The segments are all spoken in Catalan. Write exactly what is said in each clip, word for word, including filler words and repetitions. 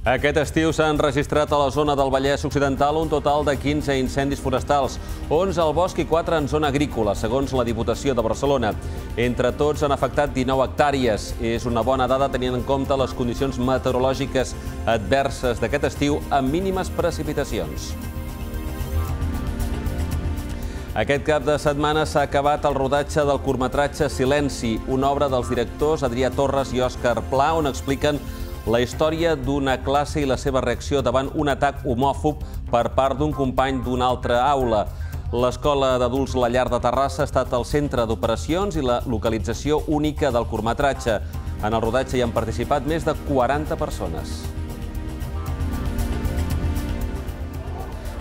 Aquest estiu s'han registrat a la zona del Vallès Occidental un total de quinze incendis forestals, onze al bosc i quatre en zona agrícola, segons la Diputació de Barcelona. Entre tots han afectat dinou hectàrees. És una bona dada tenint en compte les condicions meteorològiques adverses d'aquest estiu amb mínimes precipitacions. Aquest cap de setmana s'ha acabat el rodatge del curtmetratge Silenci, una obra dels directors Adrià Torres i Òscar Pla, on expliquen la història d'una classe i la seva reacció davant un atac homòfob per part d'un company d'una altra aula. L'Escola d'Adults La Llar de Terrassa ha estat el centre d'operacions i la localització única del curtmetratge. En el rodatge hi han participat més de quaranta persones.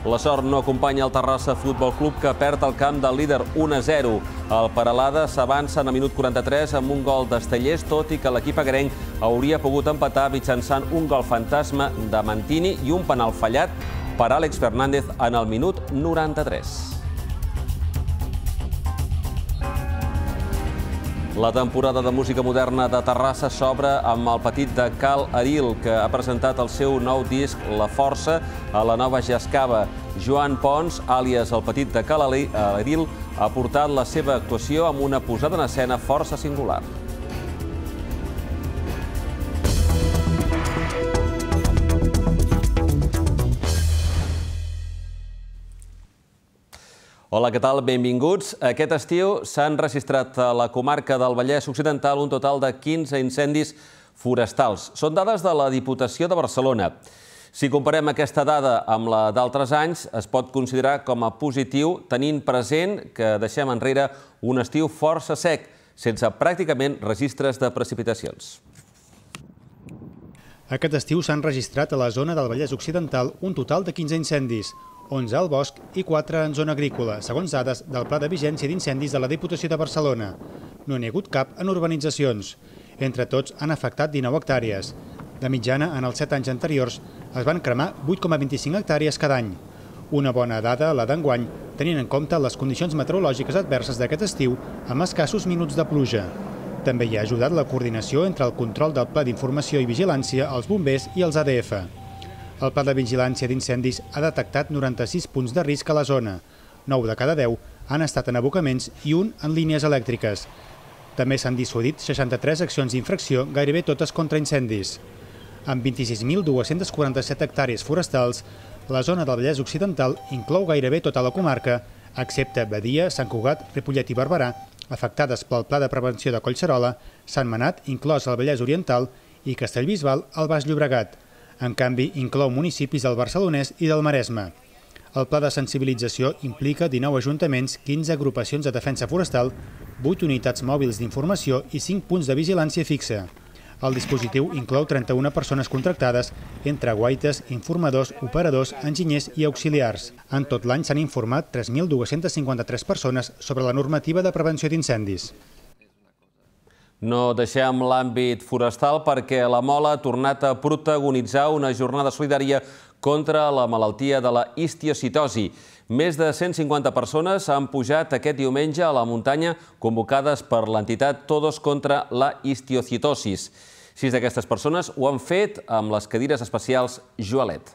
La sort no acompanya el Terrassa Futbol Club, que perd el camp del líder un a zero. El Peralada s'avança en el minut quaranta-tres amb un gol d'Estellers, tot i que l'equip agrenc hauria pogut empatar mitjançant un gol fantasma de Mantini i un penal fallat per Àlex Fernández en el minut noranta-tres. La temporada de música moderna de Terrassa s'obre amb el petit de Cal Aril, que ha presentat el seu nou disc La Força a la nova Jascava. Joan Pons, àlies el petit de Cal Aril, ha portat la seva actuació amb una posada en escena força singular. Hola, què tal? Benvinguts. Aquest estiu s'han registrat a la comarca del Vallès Occidental un total de quinze incendis forestals. Són dades de la Diputació de Barcelona. Si comparem aquesta dada amb la d'altres anys, es pot considerar com a positiu, tenint present que deixem enrere un estiu força sec, sense pràcticament registres de precipitacions. Aquest estiu s'han registrat a la zona del Vallès Occidental un total de quinze incendis, onze al bosc i quatre en zona agrícola, segons dades del Pla de Vigència d'Incendis de la Diputació de Barcelona. No n'hi ha hagut cap en urbanitzacions. Entre tots han afectat dinou hectàrees. De mitjana, en els set anys anteriors, es van cremar vuit coma vint-i-cinc hectàrees cada any. Una bona dada, la d'enguany, tenint en compte les condicions meteorològiques adverses d'aquest estiu amb escassos minuts de pluja. També hi ha ajudat la coordinació entre el control del Pla d'Informació i Vigilància, els bombers i els A D F. El Pla de Vigilància d'Incendis ha detectat noranta-sis punts de risc a la zona. nou de cada deu han estat en abocaments i un en línies elèctriques. També s'han dissuadit seixanta-tres accions d'infracció, gairebé totes contra incendis. Amb vint-i-sis mil dues-centes quaranta-set hectàrees forestals, la zona del Vallès Occidental inclou gairebé tota la comarca, excepte Badia, Sant Cugat, Ripollet i Barberà, afectades pel Pla de Prevenció de Collserola, Sant Manat, inclòs al Vallès Oriental, i Castellbisbal, al Baix Llobregat. En canvi, inclou municipis del Barcelonès i del Maresme. El pla de sensibilització implica dinou ajuntaments, quinze agrupacions de defensa forestal, vuit unitats mòbils d'informació i cinc punts de vigilància fixa. El dispositiu inclou trenta-una persones contractades, entre guaites, informadors, operadors, enginyers i auxiliars. En tot l'any s'han informat tres mil dues-centes cinquanta-tres persones sobre la normativa de prevenció d'incendis. No deixem l'àmbit forestal perquè la Mola ha tornat a protagonitzar una jornada solidària contra la malaltia de la histiocitosi. Més de cent cinquanta persones han pujat aquest diumenge a la muntanya convocades per l'entitat Todos contra la histiocitosis. Sis d'aquestes persones ho han fet amb les cadires especials Joalet.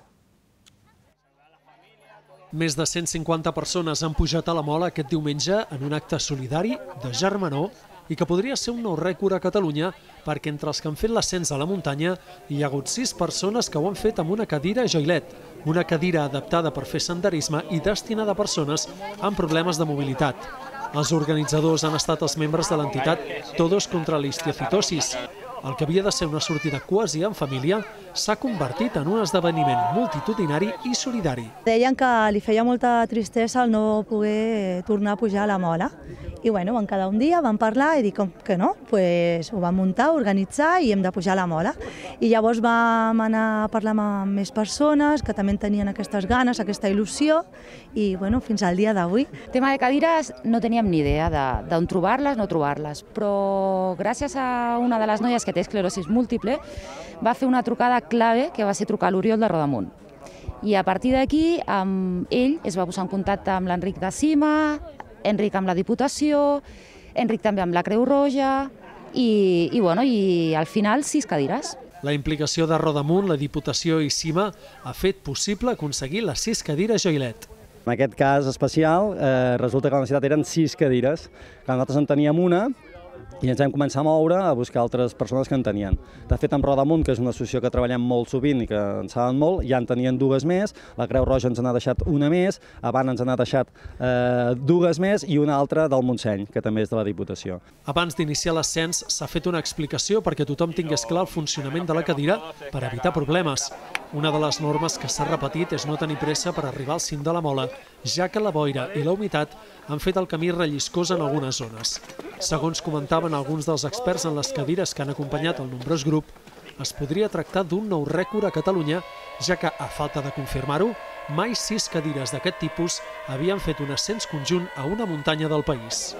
Més de cent cinquanta persones han pujat a la Mola aquest diumenge en un acte solidari de germanor i que podria ser un nou rècord a Catalunya perquè entre els que han fet l'ascens a la muntanya hi ha hagut sis persones que ho han fet amb una cadira Joilet, una cadira adaptada per fer senderisme i destinada a persones amb problemes de mobilitat. Els organitzadors han estat els membres de l'entitat Todos contra la histiocitosis. El que havia de ser una sortida quasi en família s'ha convertit en un esdeveniment multitudinari i solidari. Deien que li feia molta tristesa el no poder tornar a pujar a la Mola. I bueno, vam quedar un dia, vam parlar i dic que no, pues ho vam muntar, organitzar i hem de pujar a la Mola. I llavors vam anar a parlar amb més persones que també tenien aquestes ganes, aquesta il·lusió i bueno, fins al dia d'avui. Tema de cadires no teníem ni idea d'on trobar-les, no trobar-les, però gràcies a una de les noies que té esclerosi múltiple va fer una trucada clave que va ser trucar a l'Oriol de Rodamunt. I a partir d'aquí ell es va posar en contacte amb l'Enric de Cima, Enric amb la Diputació, Enric també amb la Creu Roja i, i, bueno, i al final sis cadires. La implicació de Rodamunt, la Diputació i Cima ha fet possible aconseguir les sis cadires Joilet. En aquest cas especial, eh, resulta que la necessitat eren sis cadires, que nosaltres en teníem una, i ens vam començar a moure a buscar altres persones que en tenien. De fet, amb Rodamunt, que és una associació que treballem molt sovint i que en saben molt, ja en tenien dues més, la Creu Roja ens n'ha deixat una més, Avant ens n'ha deixat eh, dues més i una altra del Montseny, que també és de la Diputació. Abans d'iniciar l'ascens s'ha fet una explicació perquè tothom tingués clar el funcionament de la cadira per evitar problemes. Una de les normes que s'ha repetit és no tenir pressa per arribar al cim de la mola, ja que la boira i la humitat han fet el camí relliscós en algunes zones. Segons comentaven alguns dels experts en les cadires que han acompanyat el nombrós grup, es podria tractar d'un nou rècord a Catalunya, ja que, a falta de confirmar-ho, mai sis cadires d'aquest tipus havien fet un ascens conjunt a una muntanya del país.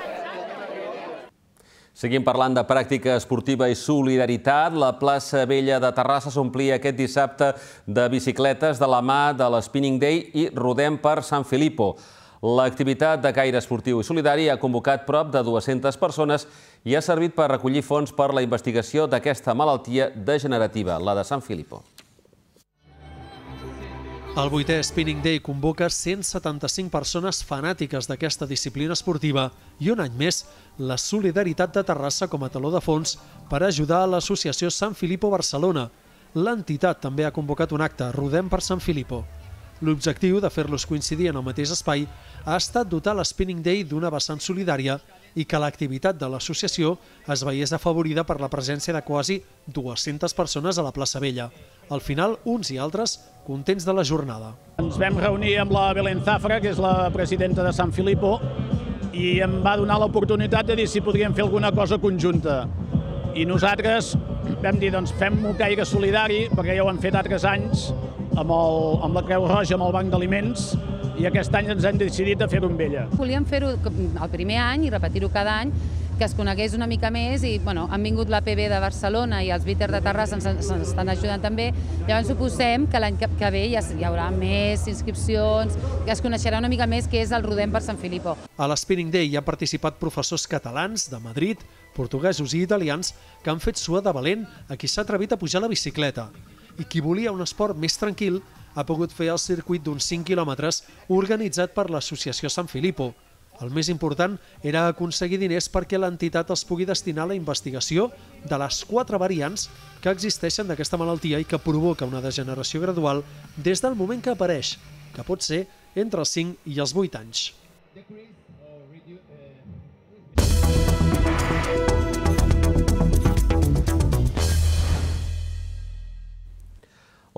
Seguim parlant de pràctica esportiva i solidaritat. La plaça Vella de Terrassa s'omplia aquest dissabte de bicicletes de la mà de l'Spinning Day i Rodem per Sant Filippo. L'activitat de caire esportiu i solidari ha convocat prop de dues-centes persones i ha servit per recollir fons per la investigació d'aquesta malaltia degenerativa, la de Sant Filippo. El vuitè Spinning Day convoca cent setanta-cinc persones fanàtiques d'aquesta disciplina esportiva i un any més la solidaritat de Terrassa com a taló de fons per ajudar a l'associació Sant Filippo Barcelona. L'entitat també ha convocat un acte, Rodem per Sant Filippo. L'objectiu de fer-los coincidir en el mateix espai ha estat dotar l'Spinning Day d'una vessant solidària i que l'activitat de l'associació es veiés afavorida per la presència de quasi dues-centes persones a la plaça Vella. Al final, uns i altres contents de la jornada. Ens vam reunir amb la Belén Zafra, que és la presidenta de Sant Filippo, i em va donar l'oportunitat de dir si podríem fer alguna cosa conjunta. I nosaltres vam dir, doncs fem un caire solidari, perquè ja ho hem fet altres anys, amb, el, amb la Creu Roja, amb el Banc d'Aliments, i aquest any ens hem decidit a fer-ho amb ella. Volíem fer-ho el primer any i repetir-ho cada any, que es conegués una mica més i bueno, han vingut l'A P B de Barcelona i els Bitter de Terrassa ens, ens estan ajudant també. Llavors suposem que l'any que, que ve ja hi haurà més inscripcions, que es coneixerà una mica més què és el Rodem per Sant Filippo. A l'Spinning Day hi han participat professors catalans de Madrid, portuguesos i italians que han fet suar de valent a qui s'ha atrevit a pujar la bicicleta. I qui volia un esport més tranquil ha pogut fer el circuit d'uns cinc quilòmetres organitzat per l'associació Sant Filippo. El més important era aconseguir diners perquè l'entitat els pugui destinar a la investigació de les quatre variants que existeixen d'aquesta malaltia i que provoca una degeneració gradual des del moment que apareix, que pot ser entre els cinc i els vuit anys.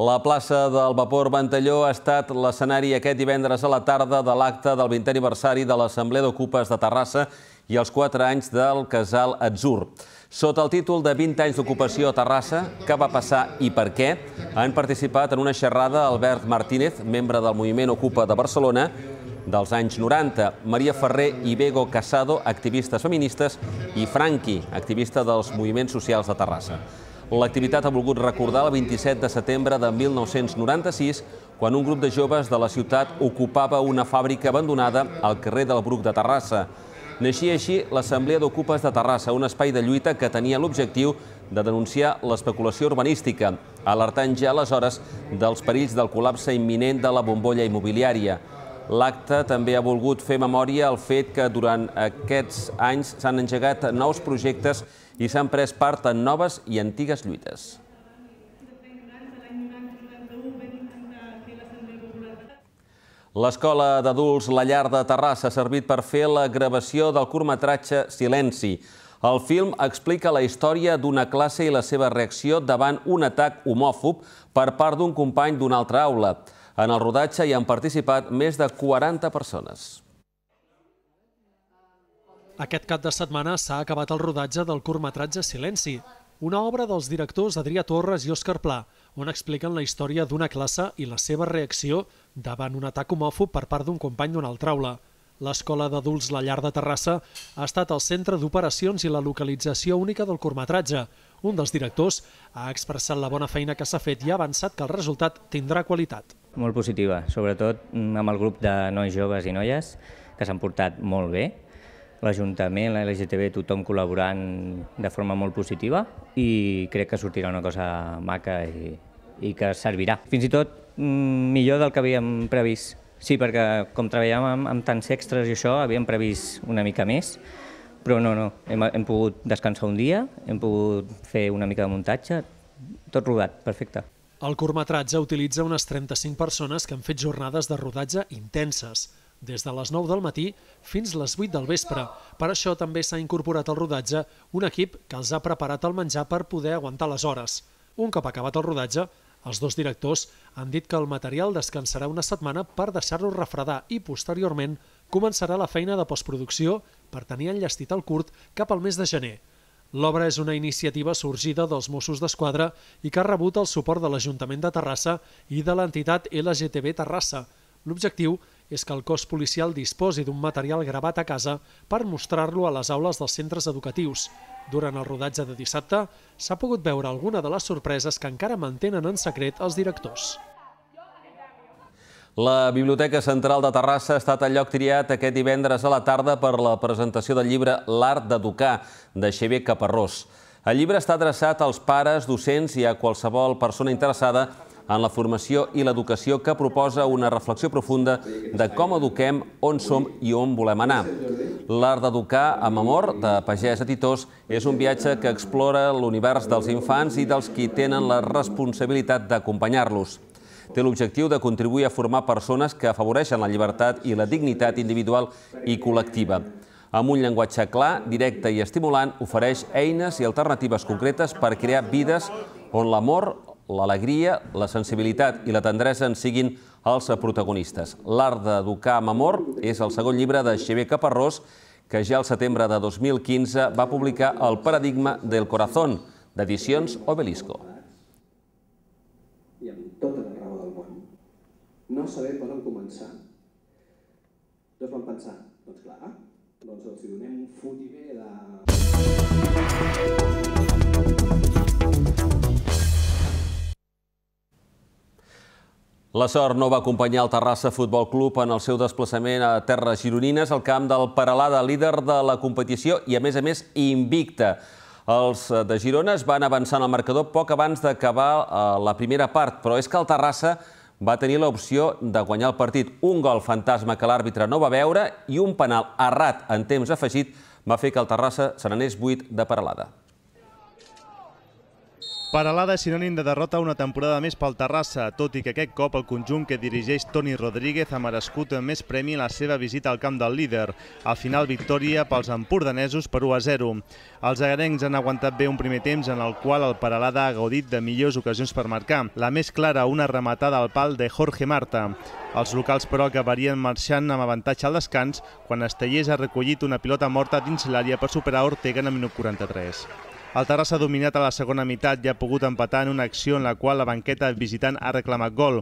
La plaça del Vapor Ventalló ha estat l'escenari aquest divendres a la tarda de l'acte del vintè aniversari de l'Assemblea d'Ocupes de Terrassa i els quatre anys del Casal Atzur. Sota el títol de vint anys d'ocupació a Terrassa, què va passar i per què, han participat en una xerrada Albert Martínez, membre del moviment Ocupa de Barcelona, dels anys noranta, Maria Ferrer i Bego Casado, activistes feministes, i Franqui, activista dels moviments socials de Terrassa. L'activitat ha volgut recordar el vint-i-set de setembre de mil nou-cents noranta-sis, quan un grup de joves de la ciutat ocupava una fàbrica abandonada al carrer del Bruc de Terrassa. Naixia així l'Assemblea d'Ocupes de Terrassa, un espai de lluita que tenia l'objectiu de denunciar l'especulació urbanística, alertant ja aleshores dels perills del col·lapse imminent de la bombolla immobiliària. L'acte també ha volgut fer memòria al fet que durant aquests anys s'han engegat nous projectes i s'han pres part en noves i antigues lluites. L'Escola d'Adults La Llar de Terrassa ha servit per fer la gravació del curtmetratge Silenci. El film explica la història d'una classe i la seva reacció davant un atac homòfob per part d'un company d'una altra aula. En el rodatge hi han participat més de quaranta persones. Aquest cap de setmana s'ha acabat el rodatge del curtmetratge Silenci, una obra dels directors Adrià Torres i Òscar Pla, on expliquen la història d'una classe i la seva reacció davant un atac homòfob per part d'un company d'una altra aula. L'Escola d'Adults La Llar de Terrassa ha estat el centre d'operacions i la localització única del curtmetratge. Un dels directors ha expressat la bona feina que s'ha fet i ha avançat que el resultat tindrà qualitat. Molt positiva, sobretot amb el grup de nois joves i noies, que s'han portat molt bé. l'Ajuntament, la L G T B, tothom col·laborant de forma molt positiva i crec que sortirà una cosa maca i, i que servirà. Fins i tot millor del que havíem previst. Sí, perquè com treballàvem amb, amb tants extras i això, havíem previst una mica més, però no, no, hem, hem pogut descansar un dia, hem pogut fer una mica de muntatge, tot rodat, perfecte. El curtmetratge utilitza unes trenta-cinc persones que han fet jornades de rodatge intenses, des de les nou del matí fins les vuit del vespre. Per això també s'ha incorporat al rodatge un equip que els ha preparat el menjar per poder aguantar les hores. Un cop acabat el rodatge, els dos directors han dit que el material descansarà una setmana per deixar-lo refredar i posteriorment començarà la feina de postproducció per tenir enllestit el curt cap al mes de gener. L'obra és una iniciativa sorgida dels Mossos d'Esquadra i que ha rebut el suport de l'Ajuntament de Terrassa i de l'entitat L G T B Terrassa. L'objectiu és que el cos policial disposi d'un material gravat a casa per mostrar-lo a les aules dels centres educatius. Durant el rodatge de dissabte s'ha pogut veure alguna de les sorpreses que encara mantenen en secret els directors. La Biblioteca Central de Terrassa ha estat el lloc triat aquest divendres a la tarda per la presentació del llibre L'art d'educar, de Xavier Caparrós. El llibre està adreçat als pares, docents i a qualsevol persona interessada en la formació i l'educació, que proposa una reflexió profunda de com eduquem, on som i on volem anar. L'art d'educar amb amor, de pagès a titós, és un viatge que explora l'univers dels infants i dels qui tenen la responsabilitat d'acompanyar-los. Té l'objectiu de contribuir a formar persones que afavoreixen la llibertat i la dignitat individual i col·lectiva. Amb un llenguatge clar, directe i estimulant, ofereix eines i alternatives concretes per crear vides on l'amor, l'alegria, la sensibilitat i la tendresa en siguin els protagonistes. L'art d'educar amb amor és el segon llibre de Xavier Caparrós, que ja al setembre de dos mil quinze va publicar El paradigma del corazón, d'Edicions Obelisco. I amb tota la raó del món, no saber per on començar. Tots van pensar, doncs clar, doncs els donem un fotimer de... La sort no va acompanyar el Terrassa Futbol Club en el seu desplaçament a terres gironines al camp del Peralada, líder de la competició i, a més a més, invicta. Els de Girona es van avançar en el marcador poc abans d'acabar la primera part, però és que el Terrassa va tenir l'opció de guanyar el partit. Un gol fantasma que l'àrbitre no va veure i un penal errat en temps afegit va fer que el Terrassa se n'anés buit de Peralada. Peralada és sinònim de derrota una temporada més pel Terrassa, tot i que aquest cop el conjunt que dirigeix Toni Rodríguez ha merescut més premi en la seva visita al camp del líder. Al final, victòria pels empordanesos per u a zero. Els agarencs han aguantat bé un primer temps en el qual el Peralada ha gaudit de millors ocasions per marcar. La més clara, una rematada al pal de Jorge Marta. Els locals, però, acabarien marxant amb avantatge al descans quan Estellers ha recollit una pilota morta dins l'àrea per superar Ortega en el minut quaranta-tres. El Terrassa ha dominat a la segona meitat i ha pogut empatar en una acció en la qual la banqueta visitant ha reclamat gol.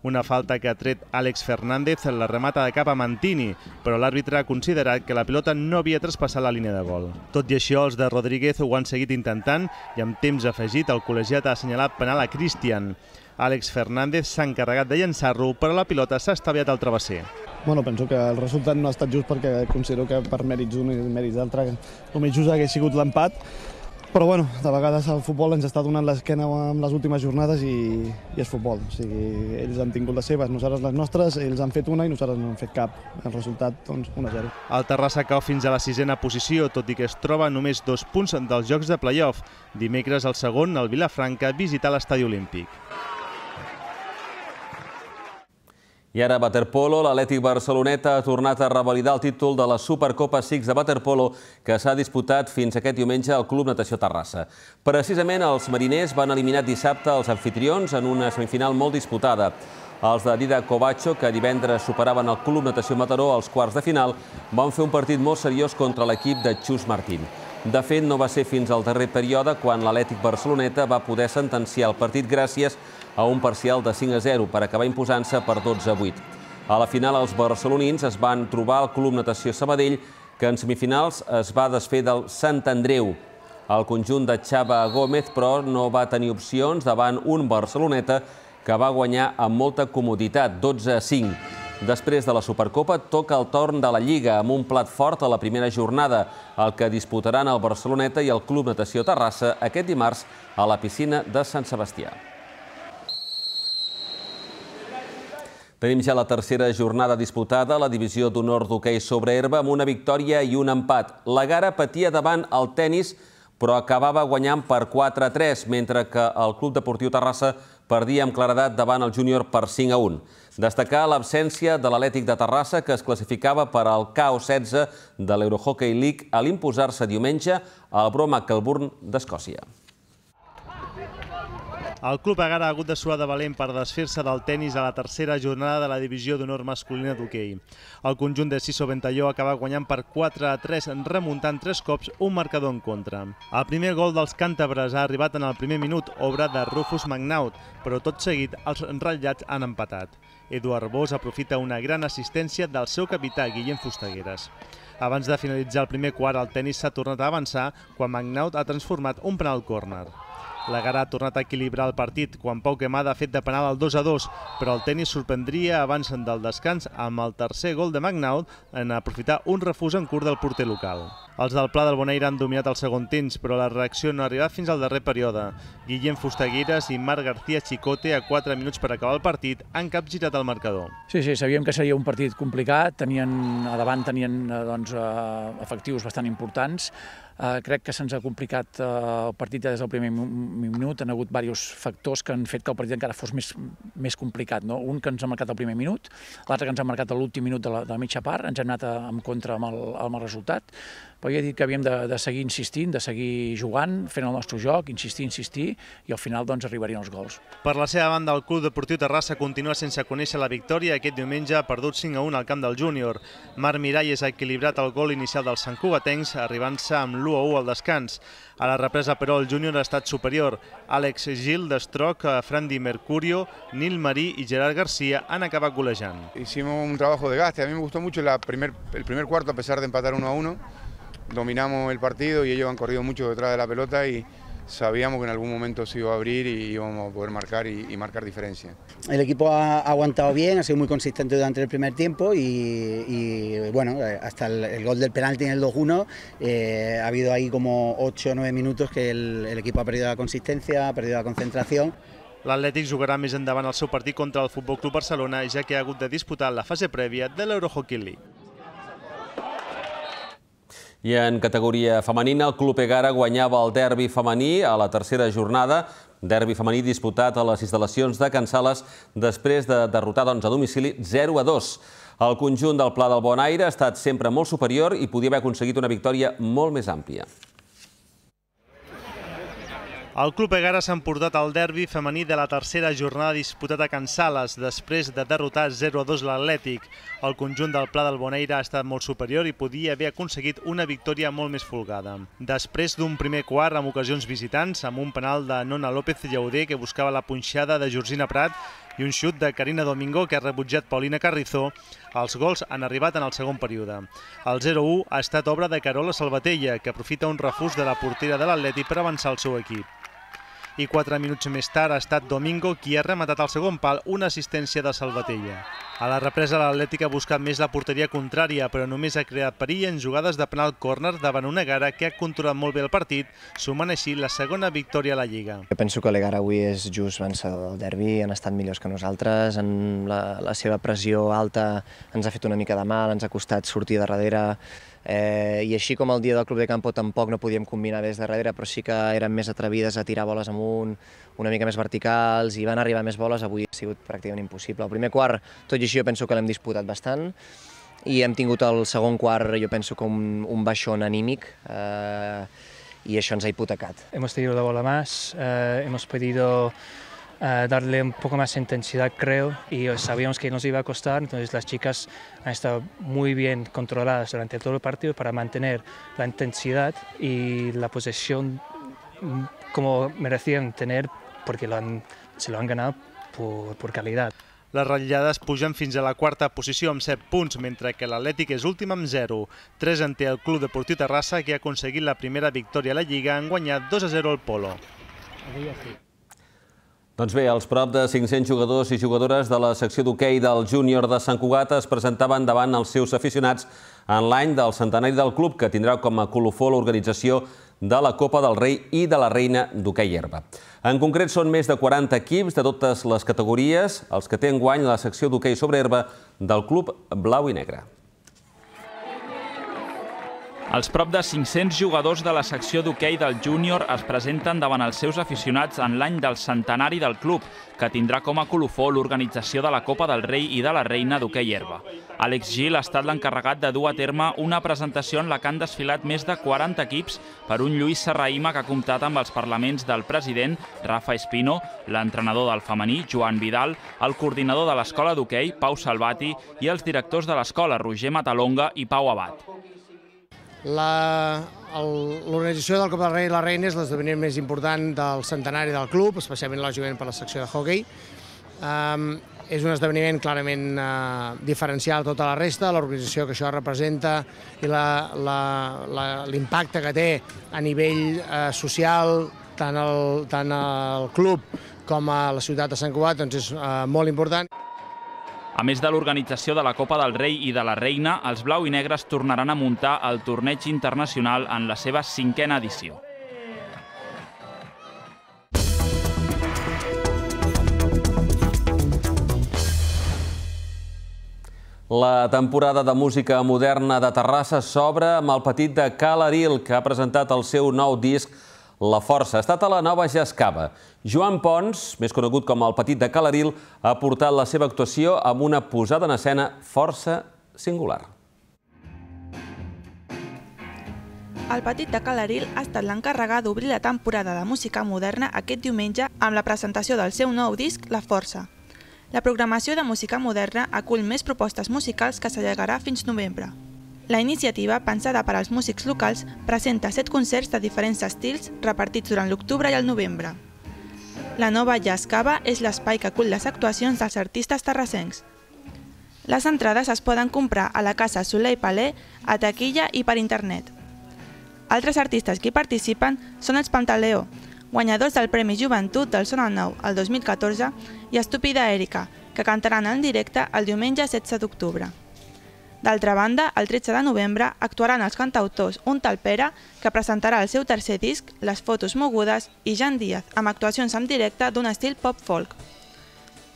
Una falta que ha tret Àlex Fernández la remata de cap a Mantini, però l'àrbitre ha considerat que la pilota no havia traspassat la línia de gol. Tot i això, els de Rodríguez ho han seguit intentant i amb temps afegit el col·legiat ha assenyalat penal a Cristian. Àlex Fernández s'ha encarregat de llançar-lo, però la pilota s'ha estaviat al travesser. Bueno, penso que el resultat no ha estat just perquè considero que per mèrits d'un i mèrits d'altre el més just hagués sigut l'empat. Però bueno, de vegades el futbol ens està donant l'esquena amb les últimes jornades i, i és futbol. O sigui, ells han tingut les seves, nosaltres les nostres, ells han fet una i nosaltres no hem fet cap. El resultat, doncs, un a zero. El Terrassa cau fins a la sisena posició, tot i que es troba només dos punts dels jocs de play-off. Dimecres, el segon, el Vilafranca, visita l'Estadi Olímpic. I ara, waterpolo, l'Atlètic Barceloneta ha tornat a revalidar el títol de la Supercopa Six de waterpolo que s'ha disputat fins aquest diumenge al Club Natació Terrassa. Precisament els mariners van eliminar dissabte els anfitrions en una semifinal molt disputada. Els de Dida Covacho, que divendres superaven el Club Natació Mataró als quarts de final, van fer un partit molt seriós contra l'equip de Xus Martín. De fet, no va ser fins al darrer període quan l'Atlètic Barceloneta va poder sentenciar el partit gràcies a un parcial de cinc a zero per acabar imposant-se per dotze a vuit. A la final, els barcelonins es van trobar al Club Natació Sabadell, que en semifinals es va desfer del Sant Andreu. El conjunt de Xava Gómez, però, no va tenir opcions davant un Barceloneta que va guanyar amb molta comoditat, dotze a cinc. Després de la Supercopa, toca el torn de la Lliga, amb un plat fort a la primera jornada, el que disputaran el Barceloneta i el Club Natació Terrassa aquest dimarts a la piscina de Sant Sebastià. Tenim ja la tercera jornada disputada a la divisió d'honor d'hoquei sobre herba amb una victòria i un empat. La Gara patia davant el tenis, però acabava guanyant per quatre a tres, mentre que el Club Deportiu Terrassa perdia amb claredat davant el Júnior per cinc a un. Destacar l'absència de l'Atlètic de Terrassa, que es classificava per al K O setze de l'Eurohockey League a l'imposar-se diumenge al Broma Kelburn d'Escòcia. El Club Egara ha hagut de suar de valent per desfer-se del tenis a la tercera jornada de la divisió d'honor masculina d'hoquei. El conjunt de Siso Ventalló acaba guanyant per quatre a tres, remuntant tres cops un marcador en contra. El primer gol dels càntabres ha arribat en el primer minut, obra de Rufus Magnaut, però tot seguit els ratllats han empatat. Eduard Bós aprofita una gran assistència del seu capità, Guillem Fustegueres. Abans de finalitzar el primer quart, el tenis s'ha tornat a avançar quan Magnaut ha transformat un penal córner. La Gara ha tornat a equilibrar el partit quan Pau Quemada ha fet de penal al dos a dos, però el tenis sorprendria abans del descans amb el tercer gol de Magnaut en aprofitar un refús en curt del porter local. Els del Pla del Bonaire han dominat el segon temps, però la reacció no ha arribat fins al darrer període. Guillem Fustegueres i Marc García Chicote, a quatre minuts per acabar el partit, han capgirat el marcador. Sí, sí, sabíem que seria un partit complicat, tenien, a davant tenien doncs, efectius bastant importants. Uh, crec que se'ns ha complicat uh, el partit des del primer minut, han hagut diversos factors que han fet que el partit encara fos més, més complicat. No? Un que ens ha marcat el primer minut, l'altre que ens ha marcat l'últim minut de la, de la mitja part, ens hem anat a, en contra amb el, amb el resultat, però ja he dit que havíem de, de seguir insistint, de seguir jugant, fent el nostre joc, insistir, insistir, i al final doncs, arribarien els gols. Per la seva banda, el Club Deportiu Terrassa continua sense conèixer la victòria. Aquest diumenge ha perdut cinc a un al camp del Júnior. Marc Miralles ha equilibrat el gol inicial dels santcugatencs, arribant-se amb l'u a u al descans. A la represa, però, el Júnior ha estat superior. Àlex Gil, Destroc, Frandi Mercurio, Nil Marí i Gerard García han acabat golejant. Hicimos un trabajo de gaste. A mí me gustó mucho la primer, el primer cuarto, a pesar de empatar uno a uno. Dominamos el partido y ellos han corrido mucho detrás de la pelota y sabíamos que en algún momento se iba a abrir y íbamos a poder marcar y, y marcar diferencia. El equipo ha aguantado bien, ha sido muy consistente durante el primer tiempo y, y bueno, hasta el, el gol del penalti en el dos uno eh, ha habido ahí como ocho o nueve minutos que el, el equipo ha perdido la consistencia, ha perdido la concentración. L'Atlètic jugarà més endavant el seu partit contra el Futbol Club Barcelona, ja que ha hagut de disputar la fase prèvia de l'Eurohockey League. I en categoria femenina, el Club Egara guanyava el derbi femení a la tercera jornada, derbi femení disputat a les instal·lacions de Can Sales després de derrotar doncs, a domicili zero a dos. El conjunt del Pla del Bonaire ha estat sempre molt superior i podia haver aconseguit una victòria molt més àmplia. El Club Egara s'ha emportat el derbi femení de la tercera jornada disputat a Can Sales després de derrotar zero a dos l'Atlètic. El conjunt del Pla del Bonaire ha estat molt superior i podia haver aconseguit una victòria molt més folgada. Després d'un primer quart amb ocasions visitants, amb un penal de Nona López Llauder que buscava la punxada de Georgina Prat i un xut de Carina Domingo que ha rebutjat Paulina Carrizó, els gols han arribat en el segon període. El zero a u ha estat obra de Carola Salvatella, que aprofita un refús de la portera de l'Atlètic per avançar el seu equip. I quatre minuts més tard ha estat Domingo qui ha rematat al segon pal una assistència de Salvatella. A la represa l'Atlètic ha buscat més la porteria contrària, però només ha creat perill en jugades de penal córner davant una Egara que ha controlat molt bé el partit, sumant així la segona victòria a la Lliga. Jo penso que l'Egara avui és just vencedor del derbi, han estat millors que nosaltres, en la, la seva pressió alta ens ha fet una mica de mal, ens ha costat sortir de darrere, Eh, i així com el dia del Club de Campo tampoc no podíem combinar des de darrere, però sí que eren més atrevides a tirar boles amunt, una mica més verticals, i van arribar més boles, avui ha sigut pràcticament impossible. El primer quart, tot i així, jo penso que l'hem disputat bastant, i hem tingut el segon quart, jo penso que un, un baixón anímic, eh, i això ens ha hipotecat. Hemos tenido la bola más, eh, hemos podido Uh, darle un poco más intensidad, creo, y sabíamos que nos iba a costar, entonces las chicas han estado muy bien controladas durante todo el partido para mantener la intensidad y la posesión como merecían tener, porque lo han, se lo han ganado por, por calidad. Les ratllades pugen fins a la quarta posició amb set punts, mentre que l'Atlètic és últim amb zero. tres en té el Club Deportiu Terrassa, que ha aconseguit la primera victòria a la Lliga, han guanyat dos a zero al Polo. Doncs bé, els prop de cinc-cents jugadors i jugadores de la secció d'hoquei del júnior de Sant Cugat es presentaven davant els seus aficionats en l'any del centenari del club, que tindrà com a colofó l'organització de la Copa del Rei i de la Reina d'hoquei herba. En concret, són més de quaranta equips de totes les categories els que té enguany la secció d'hoquei sobre herba del club blau i negre. Els prop de cinc-cents jugadors de la secció d'hoquei del júnior es presenten davant els seus aficionats en l'any del centenari del club, que tindrà com a colofó l'organització de la Copa del Rei i de la Reina d'hoquei herba. Àlex Gil ha estat l'encarregat de dur a terme una presentació en la que han desfilat més de quaranta equips per un Lluís Serrahima que ha comptat amb els parlaments del president, Rafa Espino, l'entrenador del femení, Joan Vidal, el coordinador de l'escola d'hoquei, Pau Salvati, i els directors de l'escola, Roger Matalonga i Pau Abad. L'organització del Copa del Rei i la Reina és l'esdeveniment més important del centenari del club, especialment lògicament per la secció de hoquei. És un esdeveniment clarament diferencial a tota la resta, l'organització que això representa i l'impacte que té a nivell social tant al club com a la ciutat de Sant Cugat és molt important. A més de l'organització de la Copa del Rei i de la Reina, els blau i negres tornaran a muntar el torneig internacional en la seva cinquena edició. La temporada de música moderna de Terrassa s'obre amb el petit de Cal Aril, que ha presentat el seu nou disc La Força. Ha estat a la nova Jazz Cava. Joan Pons, més conegut com el petit de Cal Aril, ha portat la seva actuació amb una posada en escena força singular. El petit de Cal Aril ha estat l'encarregat d'obrir la temporada de música moderna aquest diumenge amb la presentació del seu nou disc, La Força. La programació de música moderna acull més propostes musicals que s'allargarà fins novembre. La iniciativa, pensada per als músics locals, presenta set concerts de diferents estils repartits durant l'octubre i el novembre. La nova Jazz Cava és l'espai que acull les actuacions dels artistes terrassencs. Les entrades es poden comprar a la Casa Soleil Palais, a taquilla i per internet. Altres artistes que hi participen són els Pantaleó, guanyadors del Premi Joventut del Son al Nou el dos mil catorze, i Estúpida Èrica, que cantaran en directe el diumenge setze d'octubre. D'altra banda, el tretze de novembre actuaran els cantautors Un tal Pere, que presentarà el seu tercer disc, Les fotos mogudes, i Jan Díaz, amb actuacions en directe d'un estil pop-folk.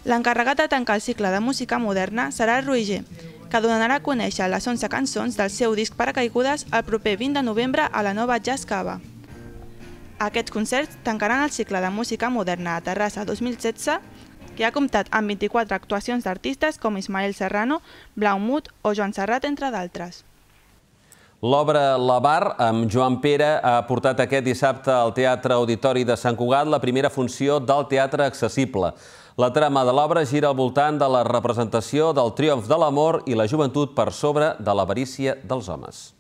L'encarregat de tancar el cicle de música moderna serà Roger, que donarà a conèixer les onze cançons del seu disc Paracaigudes el proper vint de novembre a la nova Jazz Cava. Aquests concerts tancaran el cicle de música moderna a Terrassa dos mil setze, que ha comptat amb vint-i-quatre actuacions d'artistes com Ismael Serrano, Blau Mut o Joan Serrat, entre d'altres. L'obra La Bar, amb Joan Pere, ha portat aquest dissabte al Teatre Auditori de Sant Cugat la primera funció del teatre accessible. La trama de l'obra gira al voltant de la representació del triomf de l'amor i la joventut per sobre de l'avarícia dels homes.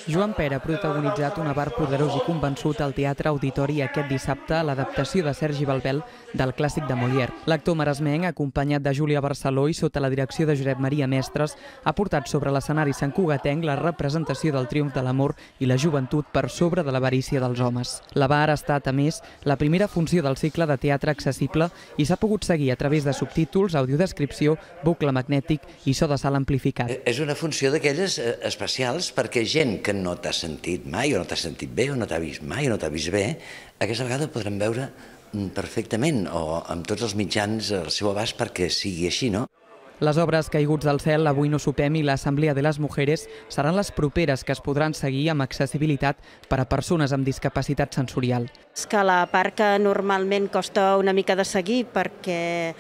Joan Pere ha protagonitzat un avar poderós i convençut al Teatre Auditori aquest dissabte a l'adaptació de Sergi Balbel del clàssic de Molière. L'actor maresmenc, acompanyat de Júlia Barceló i sota la direcció de Josep Maria Mestres, ha portat sobre l'escenari santcugatenc la representació del triomf de l'amor i la joventut per sobre de l'avarícia dels homes. La Bar ha estat, a més, la primera funció del cicle de teatre accessible i s'ha pogut seguir a través de subtítols, audiodescripció, bucle magnètic i so de sala amplificat. És una funció d'aquelles especials perquè gent que no t'ha sentit mai, o no t'ha sentit bé, o no t'ha vist mai, o no t'ha vist bé, aquesta vegada podrem veure perfectament, o amb tots els mitjans al seu abast perquè sigui així, no? Les obres Caiguts del cel, Avui no sopem i l'Assemblea de les Mujeres seran les properes que es podran seguir amb accessibilitat per a persones amb discapacitat sensorial. És que la part que normalment costa una mica de seguir perquè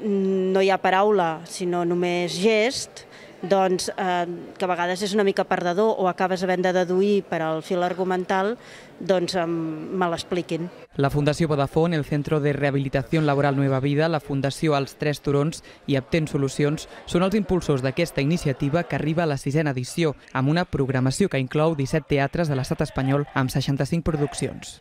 no hi ha paraula, sinó només gest, doncs eh, que a vegades és una mica perdedor o acabes havent de deduir per al fil argumental, doncs eh, me l'expliquin. La Fundació Vodafone, el Centro de Rehabilitación Laboral Nueva Vida, la Fundació Els Tres Turons i Aptent Solucions són els impulsors d'aquesta iniciativa que arriba a la sisena edició, amb una programació que inclou disset teatres de l'estat espanyol amb seixanta-cinc produccions.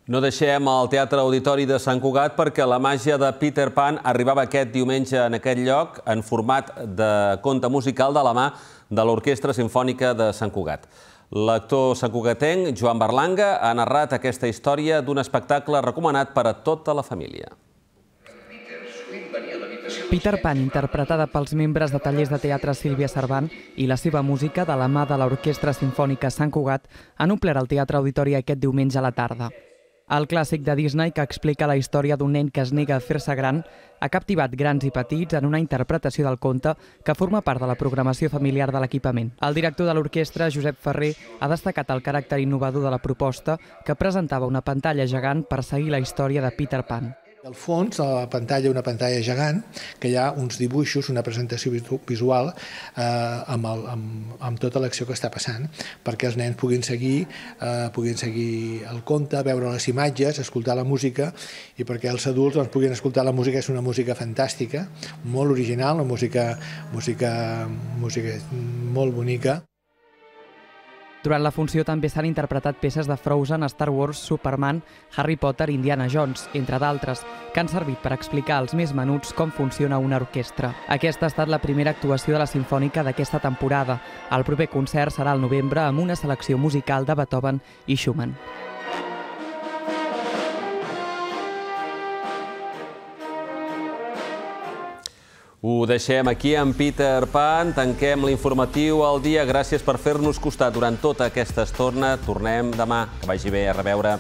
No deixem el Teatre Auditori de Sant Cugat perquè la màgia de Peter Pan arribava aquest diumenge en aquest lloc en format de conte musical de la mà de l'Orquestra Simfònica de Sant Cugat. L'actor santcugatenc Joan Berlanga ha narrat aquesta història d'un espectacle recomanat per a tota la família. Peter Pan, interpretada pels membres de tallers de teatre Sílvia Servant i la seva música de la mà de l'Orquestra Simfònica Sant Cugat, han omplert el Teatre Auditori aquest diumenge a la tarda. El clàssic de Disney, que explica la història d'un nen que es nega a fer-se gran, ha captivat grans i petits en una interpretació del conte que forma part de la programació familiar de l'equipament. El director de l'orquestra, Josep Ferrer, ha destacat el caràcter innovador de la proposta, que presentava una pantalla gegant per seguir la història de Peter Pan. Al fons, a la pantalla, una pantalla gegant, que hi ha uns dibuixos, una presentació visual eh, amb, el, amb, amb tota l'acció que està passant, perquè els nens puguin seguir, eh, puguin seguir el conte, veure les imatges, escoltar la música, i perquè els adults doncs, puguin escoltar la música. És una música fantàstica, molt original, una música, música, música molt bonica. Durant la funció també s'han interpretat peces de Frozen, Star Wars, Superman, Harry Potter i Indiana Jones, entre d'altres, que han servit per explicar als més menuts com funciona una orquestra. Aquesta ha estat la primera actuació de la Simfònica d'aquesta temporada. El proper concert serà al novembre amb una selecció musical de Beethoven i Schumann. Ho deixem aquí amb Peter Pan, tanquem l'informatiu al dia. Gràcies per fer-nos costat durant tota aquesta estona. Tornem demà. Que vagi bé, a reveure.